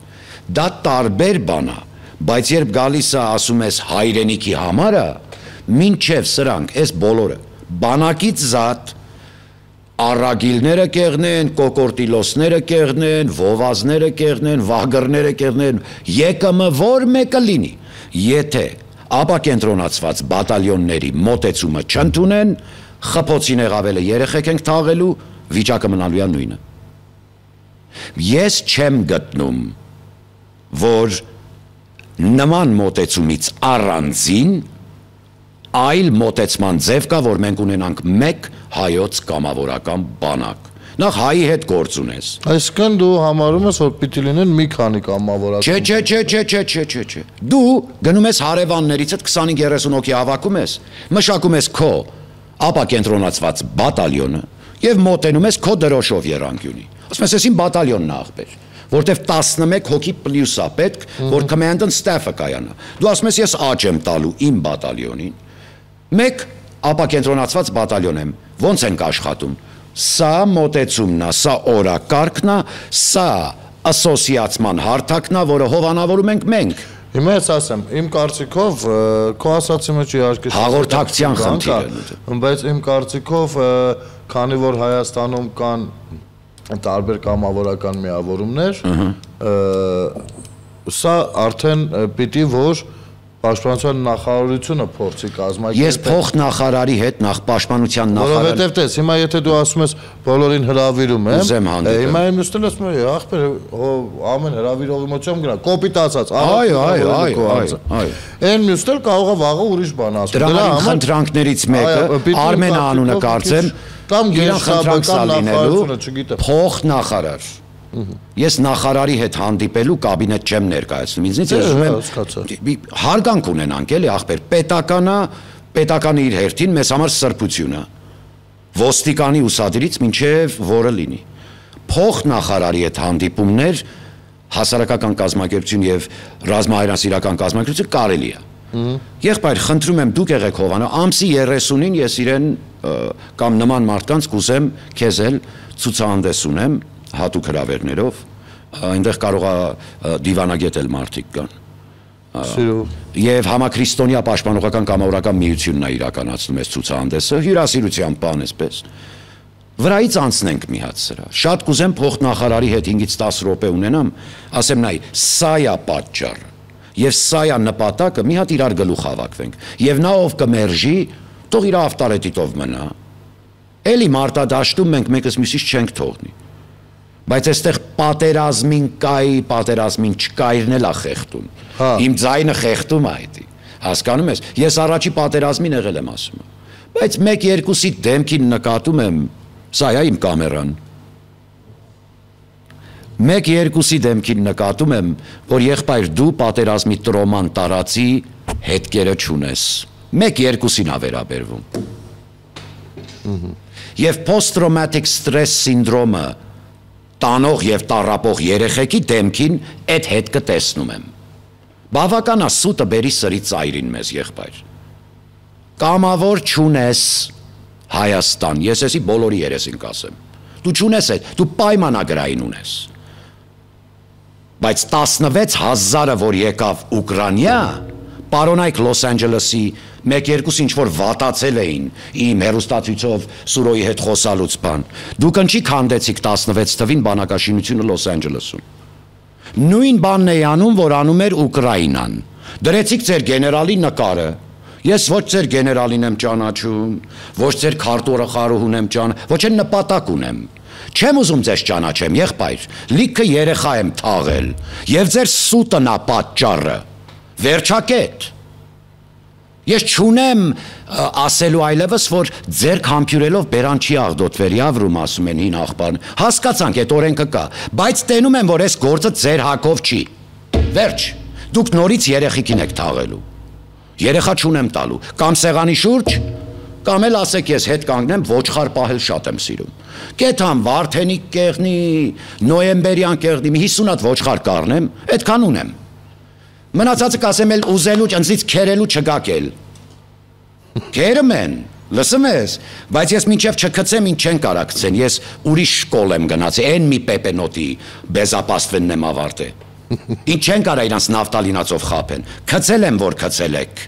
Դա տարբեր բան է, բայց երբ գալիս է ասում ես հայրենիքի համար է, մինչև սրանք, այս բոլորը, բանակից զատ, առագիլները կեղնեն, կոկորտիլոսները կեղնեն, վովազները կեղնեն, վահգրները կեղնեն, ԵԿՄ որ մեկը լինի, եթե ապակենտրոնացված բատալյոնների մոտեցումը չընդունեն, խփոցին եղավելը երեխեք ենք թաղելու, վիճակը մնալու է նույնը։ Ես չեմ գտնում, որ նման մոտեցումից առանձին այլ մոտեցման ձև կա, որ մենք ունենանք մեկ հայոց կամավորական բանակ։ Նախ հայի հետ գործ ունես։ Այսինքն դու համարում ես, որ պիտի լինեն մի քանի կամավորական։ Չէ։ Դու գնում ես հարևաններից հետ 25-30 հոգի հավաքում ես, մշակում ես քո ապակենտրոնացված բատալյոնը եւ մոտենում ես քո դրոշով Երանգյունի։ Ասում ես, «Էսին բատալյոնն է ախպեր», որտեվ 11 հոգի պլյուս է պետք, որ command and staff-ը կայանա։ Դու ասում ես, «Ես աճ եմ տալու իմ բատալյոնին»։ Մեկ ապակենտրոնացված բատալյոն եմ, ոնց ենք աշխատում։ Սա մոտեցումն է, սա օրակարգն է, սա ասոցիացման հարթակն է, որը հովանավորում ենք մենք։ Հիմա ես ասեմ, իմ կարծիքով քո ասացի մեջ իհարկե հաղորդակցության խնդիր է, բայց իմ կարծիքով քանի որ Հայաստանում կան տարբեր կամավորական միավորումներ, սա արդեն պիտի որ Պաշտպանության նախարարությունը փորձի կազմակերպել։ Ես փոխնախարարի հետ նախ պաշտպանության նախարար։ Որովհետև տես, հիմա եթե դու ասում ես բոլորին հրավիրում եմ, հիմա եմ նստել ասում եմ, ախպեր, ամեն հրավիրողի մոտ չեմ գնա, կոպիտ ասած, այն նստել կարող է վաղը ուրիշ բան ասում։ Դրա համար խնդրանքներից մեկը Արմեն անունը կարծեմ, կամ գերխնդրանքսալ լինելու փոխնախարար։ Ես նախարարի հետ հանդիպելու կաբինետ չեմ ներկայացնում, ինձնից ուզում եմ հարգանք ունենանք, էլի ախպեր, պետականը իր հերթին մեզ համար սրբություն է, ոստիկանի ուսադրից մինչև որը լինի։ Փոխնախարարի հետ հանդիպումներ հասարակական կազմակերպություն եւ ռազմահայրենասիրական կազմակերպություն կարելի է։ Եղբայր, խնդրում եմ դուք եղեք Հովանա, ամսի 30-ին ես իրեն կամ նման մարդկանց կուզեմ քեզ էլ ցուցահանդես ունեմ հատուկ հրավերներով, այնտեղ կարող է դիվանագետ էլ մարդիկ կան։ Եվ համաքրիստոնյա պաշտպանողական կամավորական միությունն է իրականացնում այս ցուցահանդեսը, հյուրասիրության բան էսպես։ Վրայից անցնենք մի հատ սրա։ Շատ կուզեմ փոխնախարարի հետ 5-ից 10 րոպե ունենամ, ասեմ նայ, սա է պատճառը։ Եվ սա է նպատակը, մի հատ իրար գլուխ հավաքվենք։ Եվ նա ով կմերժի, թող իր ավտարետիտով մնա։ Էլի մարտադաշտում մենք մեկս մյուսից չենք թողնի։ Բայց այստեղ պատերազմին կայի, պատերազմին չկայրն էլ է խեղդում։ Իմ ձայնը խեղդում է այդ։ Հասկանում ես, ես առաջի պատերազմին եղել եմ ասում։ Բայց 1-2-ի դեմքին նկատում եմ, սա է իմ կամերան։ 1-2-ի դեմքին նկատում եմ, որ եղբայր դու պատերազմի տրոման տարածի հետքերը չունես։ 1-2-ին է վերաբերվում։ Եվ post-traumatic stress սինդրոմը տանող եւ տառապող երեխեքի դեմքին այդ հետքը տեսնում եմ։ Բավական է սուտը բերի սրի ծայրին մեզ եղբայր։ Կամավոր չունես Հայաստան, ես էսի բոլորի երեսին կասեմ։ Դու չունես այդ, դու պայմանագրային ունես։ Բայց 16,000-ը, որ եկավ Ուկրաինա, պարոնայք Լոս Անջելեսի 1-2 ինչ-որ վատացել էին իմ հեռուստացույցով Սուրոյի հետ խոսալուց բան։ Դուք ընչի քանդեցիք 16 թվին բանակաշինությունը Լոս Անջելեսում։ Նույն բանն է անում, որ անում էր Ուկրաինան։ Դրեցիք ձեր գեներալի նկարը։ Ես ոչ ձեր գեներալին եմ ճանաչում, ոչ ձեր քարտուղարուհուն եմ ոչ էլ նպատակ ունեմ։ Չեմ ուզում ձեզ ճանաչեմ, եղբայր, լիքը երեխա եմ թաղել, եւ ձեր սուտն է պատճառը։ Վերջակետ։ Ես չունեմ ասելու այլևս, որ ձեր համբյուրելով բերան չի աղդոտվեր, Եվրում ասում են հին աղբան։ Հասկացանք, այդ օրենքը կա, բայց տենում եմ, որ այս գործը ձեր հակով չի։ Վերջ, դուք նորից երեխիքին եք թաղելու։ Երեխա չունեմ տալու, կամ սեղանի շուրջ, կամ էլ ասեք ես հետ կանգնեմ, ոչխար պահել շատ եմ սիրում։ Կեթամ Վարդենիկ կեղնի, նոյեմբերյան կեղնի, 50 հատ ոչխար կառնեմ, այդքան ունեմ։ Մնացածը կասեմ էլ ուզելու, ընձից քերելու չգաք էլ։ Քերում են, լսում ես, բայց ես մինչև չքցեմ, ինչ չեն կարա գցեն, ես ուրիշ շկոլ եմ գնացել, այն մի պեպենոտի բեզապաստվենն եմ ավարտել։ Ինչ չեն կարա իրանց նավտալինացով խապեն, քցել եմ, որ քցել եք։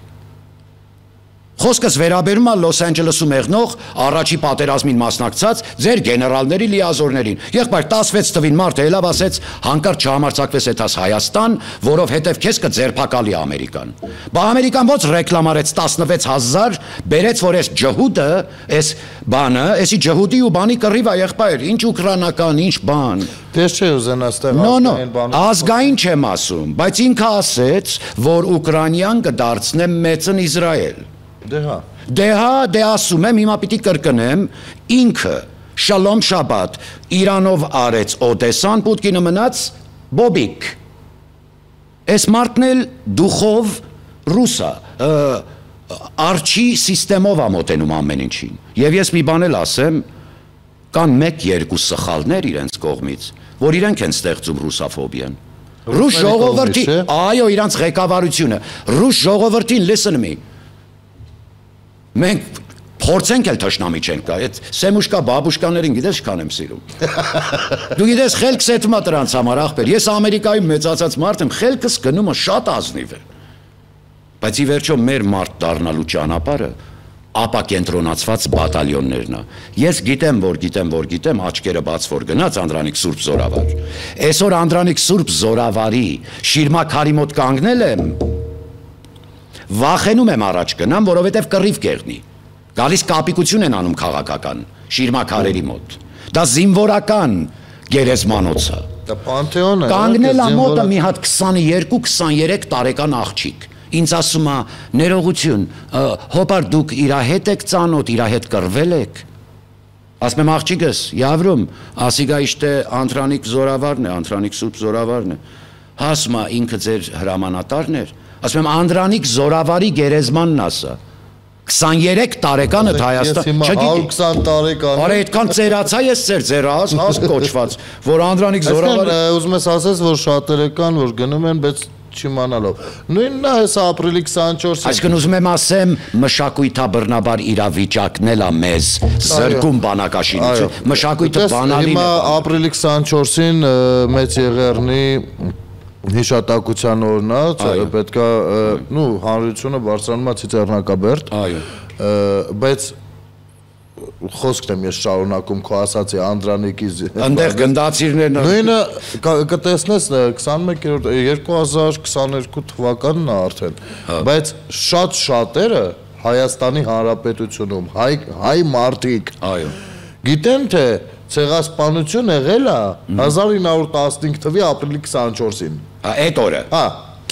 Խոսքս վերաբերում է Լոս Անջելեսում եղնող առաջի պատերազմին մասնակցած ձեր գեներալների լիազորներին։ Եղբայր 16 թվին մարդը ելավ ասեց հանկարծ չհամարձակվես այդաս Հայաստան, որովհետև քեզ կձերբակալի Ամերիկան։ Բա Ամերիկան ոնց ռեկլամարեց 16000, բերեց որ այս ջհուդը, այս բանը, էսի ջհուդի ու բանի կռիվ է եղբայր, ինչ ուկրաինական, ինչ բան։ Դες չէ ուզեն աստեղ ազգային բան։ Ազգային չեմ ասում, բայց ինքը ասեց, որ Ուկրաինան կդարձնե մեծն Իսրայել։ Դե ասում եմ, հիմա պիտի կրկնեմ, ինքը Շալոմ Շաբաթ Իրանով արեց Օդեսան, Պուտկինը մնաց Բոբիկ։ Այս մարդն էլ դուխով ռուսա, արջի սիստեմով է մոտենում ամեն ինչին։ Եվ ես մի բան էլ ասեմ, կան 1-2 սխալներ իրենց կողմից, որ իրենք են ստեղծում ռուսաֆոբիան։ Ռուս ժողովրդի, այո, իրանց ղեկավարությունը, ռուս ժողովրդին listen me։ Մենք փորձենք էլ թշնամի չենք կա, այդ սեմուշկա բաբուշկաներին գիտես չքան եմ սիրում։ Դու գիտես խելքս էտում է դրանց համար ախպեր, ես Ամերիկայում մեծացած մարդ եմ, խելքս գնումը շատ ազնիվ է։ Բայց ի վերջո մեր մարդ դառնալու ճանապարհը ապակենտրոնացված բատալյոններն է։ Ես գիտեմ, աչքերը բաց որ գնաց Անդրանիկ Սուրբ Զորավար։ Այսօր Անդրանիկ Սուրբ Զորավարի շիրմաքարի մոտ կանգնել եմ, վախենում եմ առաջ գնամ, որովհետև կռիվ կեղնի։ Գալիս կապիկություն են անում քաղաքական շիրմաքարերի մոտ։ Դա զինվորական գերեզմանոց է։ Դա Պանթեոն է։ Կանգնել է մոտը մի հատ 22-23 տարեկան աղջիկ։ Ինձ ասում է ներողություն, հոբար դուք իրա հետ եք ծանոթ, իրա հետ կռվել եք։ Ասում եմ աղջիկս, Եվրում, ասիգա իշտե Անդրանիկ Զորավարն է, Անդրանիկ Սուրբ Զորավարն է։ Ասում է ինքը ձեր հրամանատարն էր։ Ասում եմ Անդրանիկ Զորավարի գերեզմանն ասա։ 23 տարեկանը Հայաստան, չգիտի 20 տարեկան։ Արա այդքան ծերացա ես ձերաս, հաս կոչված, որ Անդրանիկ Զորավարը ուզում ես ասես, որ շատերը կան, որ գնում են, բայց չիմանալով։ Նույնն է հեսա ապրիլի 24-ին։ Այսինքն ուզում եմ ասեմ, մշակույթաբռնաբար իրավիճակն էլ է մեզ զրկում բանակաշինություն։ Մշակույթը բանալին է։ Հիմա ապրիլի 24-ին Մեծ Եղեռնի հիշատակության օրն է, պետքա հանրությունը բարձրանում է Ցիծեռնակաբերդ, բայց խոսքն եմ ես շարունակում քո ասացի Անդրանիկի Այնտեղ գնդացիրներն նույնը կտեսնես 2022 թվականն է արդեն բայց շատ-շատերը Հայաստանի Հանրապետությունում հայ մարդիկ այո գիտեն թե ցեղասպանություն եղել է 1915 թվականի ապրիլի 24-ին այդ օրը հա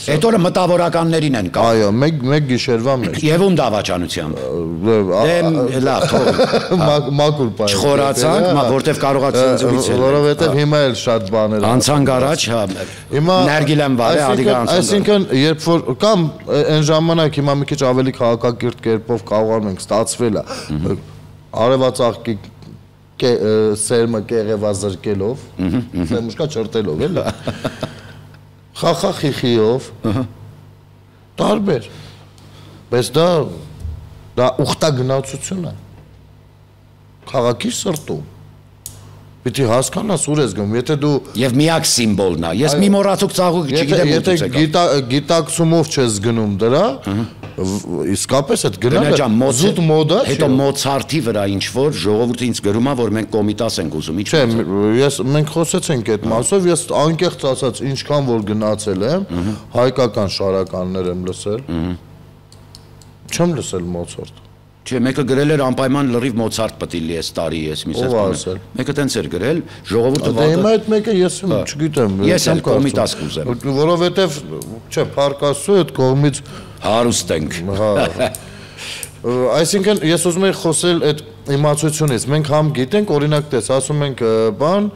այդ օրը մտավորականներին են կա այո մեկ գիշերվա մեջ եւ ում դավաճանությամբ լավ թող մակուր բայ չխորացանք որտեվ կարողացանք զուգիցել որովհետեւ հիմա էլ շատ բաներ անցանք առաջ հա հիմա Ներգիլեմ վարե ադիգա անցանք այսինքն երբ որ կամ այն ժամանակ հիմա մի քիչ ավելի քաղաքակիրթ կերպով կարողանում ենք ստացվել է արևածաղկի սերմը կեղևազրկելով սերմուշկա չրտելով էլի խախախիխիով տարբեր բայց դա ուխտագնացություն է քաղաքի սրտում պիտի հասկանաս ուր ես գնում եթե դու եւ միակ սիմվոլն է ես մի մոռացուկ ծաղուկ չգիտեմ եթե գիտակցումով չես գնում դրա իսկապես այդ գնալը զուտ մոդա չէ հետո Մոցարտի վրա ինչ որ ժողովուրդը ինձ գրում է որ մենք կոմիտաս ենք ուզում ինչ մենք խոսեցինք այդ մասով ես անկեղծ ասած ինչքան որ գնացել եմ հայկական շարականներ եմ լսել չեմ լսել Մոցարտ Չէ, մեկը գրել էր անպայման լրիվ Մոցարտ պետք է լի այս տարի ես մի ասել։ Մեկը տենց էր գրել, ժողովուրդը վատը։ Դե հիմա այդ մեկը ես չգիտեմ։ Ես էլ կոմիտաս կուզեմ։ Որովհետև չէ, փարկասու այդ կողմից հարուստ ենք։ Հա։ Այսինքն ես ուզում եմ խոսել այդ իմացությունից։ Մենք համ գիտենք, օրինակ տես, ասում ենք բան,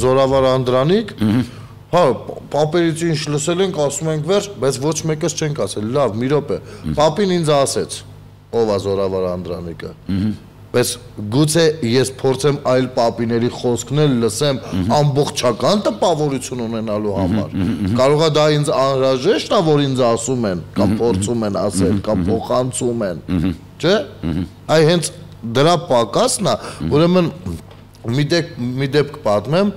Զորավար Անդրանիկ, հա, պապերից ինչ լսել ենք, ասում ենք վերջ, բայց ոչ մեկս չենք ասել։ Լավ, մի րոպե։ Պապին ինձ ասեց ով է Զորավար Անդրանիկը բայց գուցե ես փորձեմ այլ պապիների խոսքներ լսեմ ամբողջական տպավորություն ունենալու համար կարող է դա ինձ անհրաժեշտ է որ ինձ ասում են կամ փորձում են ասել կամ փոխանցում են չէ այ հենց դրա պակասն է ուրեմն մի դեպք պատմեմ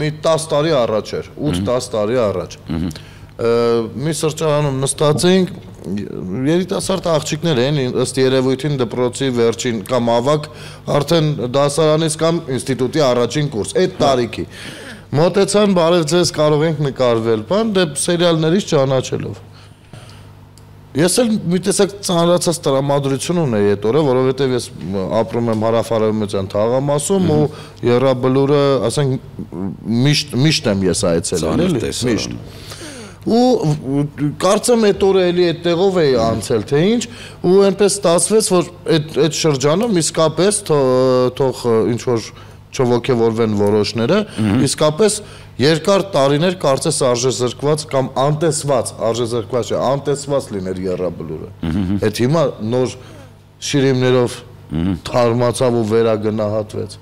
մի 10 տարի առաջ էր 8-10 տարի առաջ մի սրճարանում նստած էինք երիտասարդ աղջիկներ են ըստ երևույթին դպրոցի վերջին կամ ավակ արդեն դասարանից կամ ինստիտուտի առաջին կուրս այդ տարիքի մոտեցան բարև ձեզ կարող ենք նկարվել բան դե սերիալներից ճանաչելով ես էլ մի տեսակ ծանրացած տրամադրություն ունեի այդ օրը որովհետև ես ապրում եմ հարավարևմտյան թաղամասում ու Եռաբլուրը ասենք միշտ եմ ես այցելել էլի միշտ ու կարծեմ այդ օրը էլի այդտեղով էի անցել թե ինչ ու այնպես ստացվեց որ այդ շրջանում իսկապես թող ինչ որ չողոքեվորվեն որոշները իսկապես երկար տարիներ կարծես արժեզրկված կամ անտեսված արժեզրկված չէ անտեսված լիներ Եռաբլուրը այդ հիմա նոր շիրիմներով թարմացավ ու վերագնահատվեց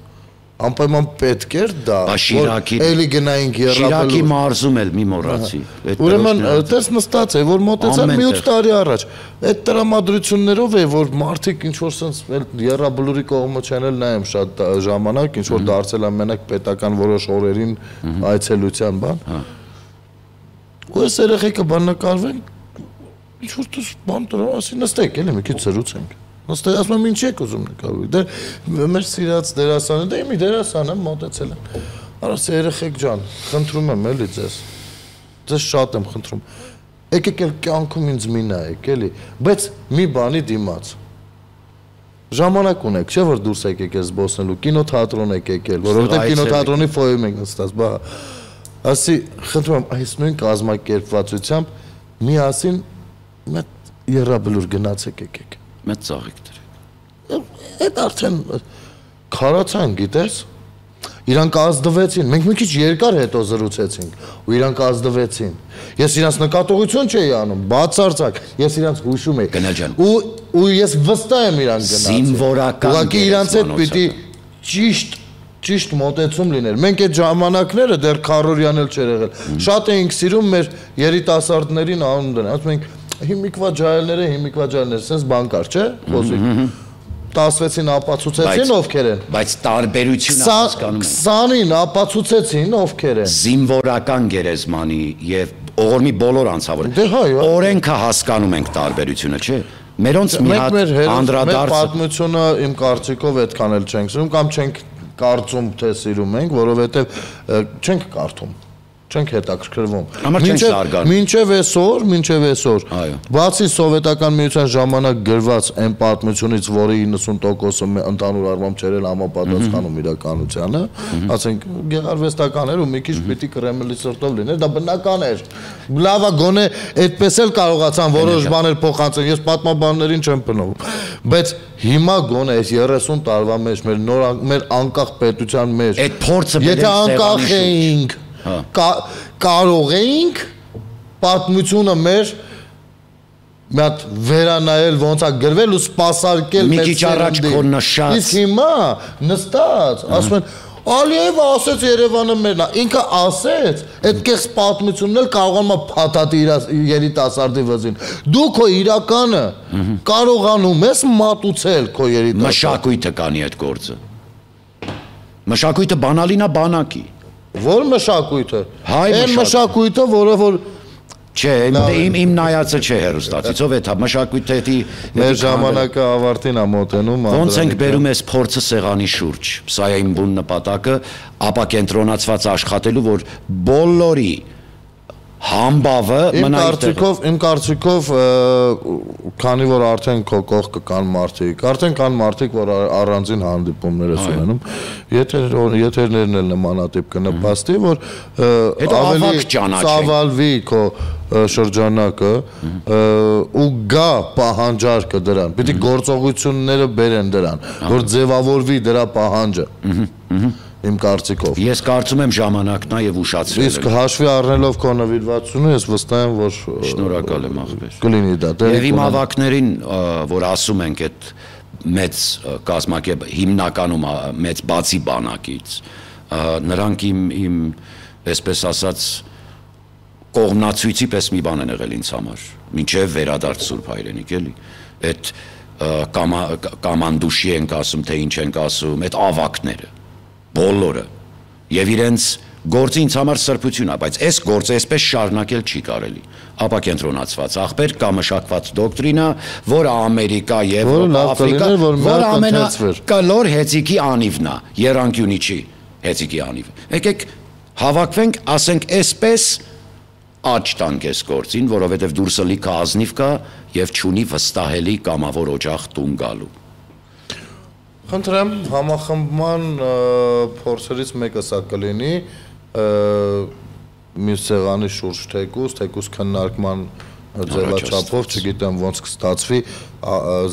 անպայման պետք էր դա էլի գնայինք Եռաբլուր Շիրակի մարզում էլ մի մոռացի ուրեմն տես նստած է որ մոտեցան մի 8 տարի առաջ այդ տրամադրություններով է որ մարդիկ ինչ որ sense Եռաբլուրի կողմը չեն էլ նայեմ շատ ժամանակ ինչ որ դարձել են մենակ պետական որոշ օրերին այցելության բան ու այս երեխեքը բան նկարվեն ինչ որ դու բան դրա ասի նստեք էլի մի քիչ զրուցենք Նստել ասում եմ ինչ եք ուզում նկարվել դե մեր սիրած դերասանը դե մի դերասան եմ մոտեցել եմ արաս երեխեք ջան խնդրում եմ էլի ձեզ շատ եմ խնդրում եկեք էլ կյանքում ինձ մի նայեք էլի բայց մի բանի դիմաց ժամանակ ունեք չէ որ դուրս եկեք ես զբոսնելու կինոթատրոն եք եկել որովհետև կինոթատրոնի ֆոյում ենք նստած բա ասի խնդրում եմ այս նույն կազմակերպվածությամբ միասին մեծ Եռաբլուր գնացեք եկեք մեծ ծաղիկ դրեք այդ արդեն քարացան գիտես իրանք ազդվեցին մենք մի քիչ երկար հետո զրուցեցինք ու իրանք ազդվեցին ես իրանք նկատողություն չէի անում բացարձակ ես իրանք հուշում եի ու ես վստահ եմ իրանք գնացել զինվորական ուղղակի իրանք հետ պիտի ճիշտ մոտեցում լիներ մենք այդ ժամանակները դեռ քարորյան էլ չէր եղել շատ էինք սիրում մեր երիտասարդներին անուն դնել ասում ենք հիմիկվա ջահելները, sense բան կար, չէ՞, խոսիկ։ 16-ին ապացուցեցին ովքեր են։ Բայց տարբերությունը հասկանում եմ։ 20-ին ապացուցեցին ովքեր են։ Զինվորական գերեզմանի եւ օղորմի բոլոր անձավոր։ Դե հայ։ Օրենքը հասկանում ենք տարբերությունը, չէ՞։ Մերոնց մի հատ անդրադարձ մեր պատմությունը իմ կարծիքով այդքան էլ չենք սիրում կամ չենք կարծում թե սիրում ենք, որովհետև չենք կարդում, չենք հետաքրքրվում։ Մինչև այսօր, բացի սովետական միության ժամանակ գրված այն պատմությունից, որի 90%-ը ընդհանուր առմամբ չէր էլ համապատասխանում իրականությանը, ասենք գեղարվեստական էր ու մի քիչ պիտի Կրեմլի սրտով լիներ, դա բնական էր։ Լավ է, գոնե այդպես էլ կարողացան որոշ բաներ փոխանցել, ես պատմաբաններին չեմ փնովում, բայց հիմա գոնե այս 30 տարվա մեջ մեր անկախ պետության մեջ, եթե անկախ էինք, կարող էինք պատմությունը մեր մի հատ վերանայել ոնց է գրվել ու սպասարկել մի քիչ առաջ քո նշած իսկ հիմա նստած ասում են Ալիևը ասեց Երևանը մերն է ինքը ասեց այդ կեղծ պատմությունն էլ կարողանում է փաթաթի երիտասարդի վզին դու քո իրականը կարողանում ես մատուցել քո երիտասարդի մշակույթը կանի այդ գործը մշակույթը բանալին է բանակի Որ մշակույթը այն մշակույթը որը որ Չէ, իմ նայածը չէ հերոստացիցով է, մշակույթի մեր ժամանակը ավարտին է մոտենում Ոնց ենք բերում ես փորձը սեղանի շուրջ Սա է իմ բուն նպատակը ապակենտրոնացված աշխատելու որ բոլորի Համբավը Իմ կարծիքով քանի որ արդեն քո կողքը կան մարդիկ արդեն կան մարդիկ որ առանձին հանդիպումներ են ունենում եթերներն էլ նմանատիպ կնպաստի որ ավելի ծավալվի քո շրջանակը ու գա պահանջարկը դրան պիտի գործողությունները բերեն դրան որ ձևավորվի դրա պահանջը Իմ կարծիքով Ես կարծում եմ ժամանակն է եւ ուշացրել Իսկ հաշվի առնելով քո նվիրվածությունը ես վստահ եմ որ շնորհակալ եմ աղբեր Կլինի դա Եվ իմ ավակներին որ ասում ենք այդ մեծ կազմակերպ հիմնականում մեծ բացի բանակից նրանք իմ այսպես ասած կողմնացույցի պես մի բան են եղել ինձ համար մինչև վերադարձ Սուրբ Հայրենիք էլի այդ կամանդուշի ենք ասում թե ինչ ենք ասում այդ ավակները բոլորը եւ իրենց գործը ինձ համար սրբություն է բայց այս գործը այսպես շարունակել չի կարելի ապակենտրոնացված աղբեր կամ մշակված դոկտրինա որը Ամերիկա եւ Աֆրիկա որը ամենակլոր հեծիկի անիվն է Երանկյունի չի հեծիկի անիվը եկեք հավաքվենք ասենք այսպես աճ տանք այս գործին որովհետեւ դուրսը լիքը ազնիվ կա եւ չունի վստահելի կամավոր օջախ տուն գալու Խնդրեմ համախմբման փորձերից մեկը սա կլինի մի սեղանի շուրջ թեկուս քննարկման ձևաչափով չգիտեմ ոնց կստացվի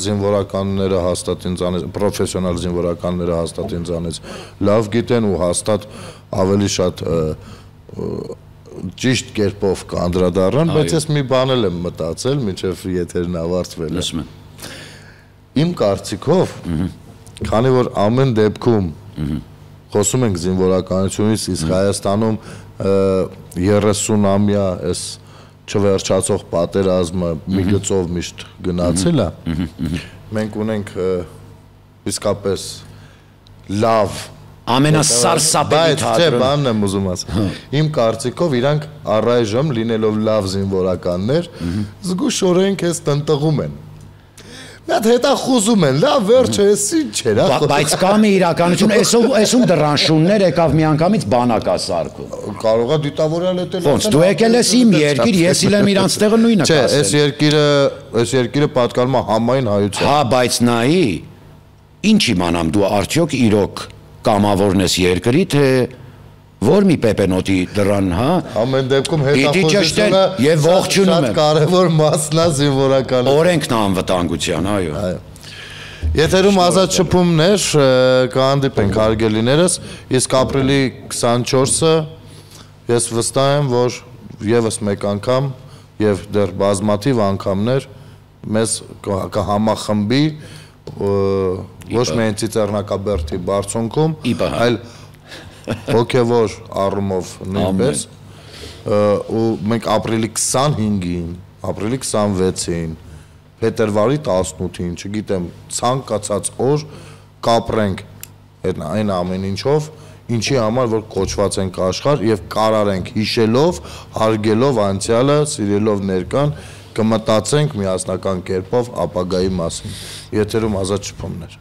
զինվորականները հաստատ ինձանից պրոֆեսիոնալ զինվորականները հաստատ ինձանից լավ գիտեն ու հաստատ ավելի շատ ճիշտ կերպով կանդրադառնան բայց ես մի բան եմ մտածել մինչև եթերն ավարտվել է Իմ կարծիքով Քանի որ ամեն դեպքում խոսում ենք զինվորականությունից, իսկ Հայաստանում 30-ամյա այս չվերջացող պատերազմը մի գծով միշտ գնացել է, մենք ունենք իսկապես լավ ամենասարսափելի թատրոն բանն եմ ուզում ասել Իմ կարծիքով իրանք առայժմ լինելով լավ զինվորականներ զգուշորեն քեզ տնտղում են Այդ հետախուզում են, լավ վերջը էս ինչ էր Բայց կա մի իրականություն, էսում դրանշուններ եկավ միանգամից բանակա սարքում Կարող է դիտավորյալ էտել Ոնց, դու եկել ես իմ երկիր, ես իլեմ իրանց տեղը նույնը կասել Չէ, այս երկիրը պատկանում է համայն հայության Հա, բայց նայի, ինչ իմանամ դու արդյոք իրոք կամավորն ես երկրի, թե Որ մի պեպենոտի դրան, հա Ամեն դեպքում հետախուզությունը եւ ողջունում եմ Շատ կարևոր մասն է զինվորական Օրենքն անվտանգության, այո Եթերում ազատ շփումներ կհանդիպենք հարգելիներս իսկ ապրիլի 24-ը ես վստահ եմ որ եւս մեկ անգամ եւ դեռ բազմաթիվ անգամներ մեզ կհամախմբի ոչ միայն Ծիծեռնակաբերդի բարձունքում այլ հոգևոր առումով նույնպես ու մենք ապրիլի 25-ին, ապրիլի 26-ին, փետրվարի 18-ին, չգիտեմ, ցանկացած օր կապրենք այն ամեն ինչով, ինչի համար որ կոչված ենք աշխարհ եւ կարարենք հիշելով, հարգելով անցյալը, սիրելով ներկան կմտածենք միասնական կերպով ապագայի մասին։ Եթերում Ազատ Շփումներ։